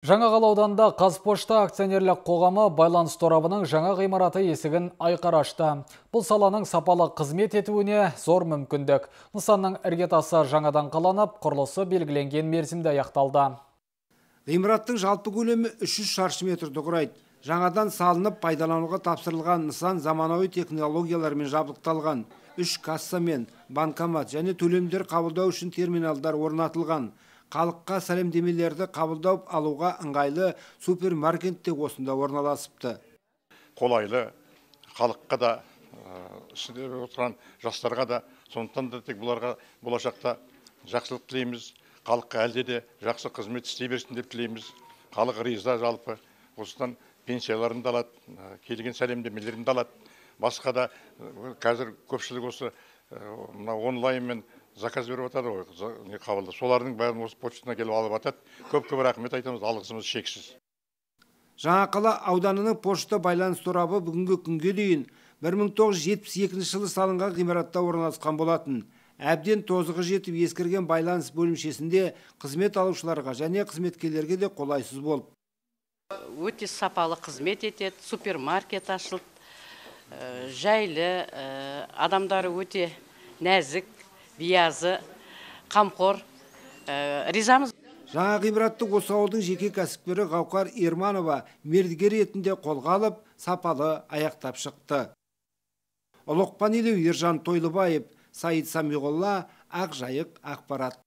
Жаңақала ауданында Қазпошта акционерлік қоғамы байланыс торабының жаңа ғимараты есігін айқара ашты. Бұл саланың сапалы қызмет етуіне зор мүмкіндік. Нысанның іргетасы жаңадан қаланып, құрылысы белгіленген мерзімде аяқталды. Ғимараттың жалпы көлемі 300 шаршы метрді құрайды. Жаңадан салынып пайдалануға тапсырылған нысан заманауи технологиялармен жабдықталған. 3 касса мен банкомат және төлемдер қабылдау үшін терминалдар орнатылған. Халыққа сәлемдемелерді қабылдау алуға ыңғайлы супермаркет те осында орналасыпты. Қолайлы, халыққа да, ішінде отырған жастарға да, сондықтан да тек бұларға болашақта жақсылық тілейміз. Халыққа әлде де жақсы қызмет істей берсін деп тілейміз. Халық риза жалпы. Осыдан пенсияларын да алады, келген сәлемдемелерін де алады. Басқа да қазір көпшілік осы онлайнмен заказ беріп атады ғой, қабылды. Солардың бәрін осы почтасына келіп алып атады. Көп-көп рахмет айтамыз, алғысымыз шексіз. Жаңақала ауданының пошта байланыс торабы бүгінгі күнге дейін 1972 жылы салынған ғимаратта орналасқан болатын. Әбден тозығы жетіп ескірген байланыс бөлімшесінде қызмет алушыларға және қызметкерлерге де қолайсыз болып. Өте сапалы қызмет етеді, супермаркет ашылды, жайлы, адамдары өте нәзік, биязы, қамқор, ризамыз. Жаңа ғимаратты осы ауылдың жеке кәсіпкері Ғауқар Ерманова мердігер ретінде қолға алып, сапалы аяқтап шықты. Ұлықпан Елеу, Ержан Тойлыбаев, Саид Самиғолла, Ақжайық ақпарат.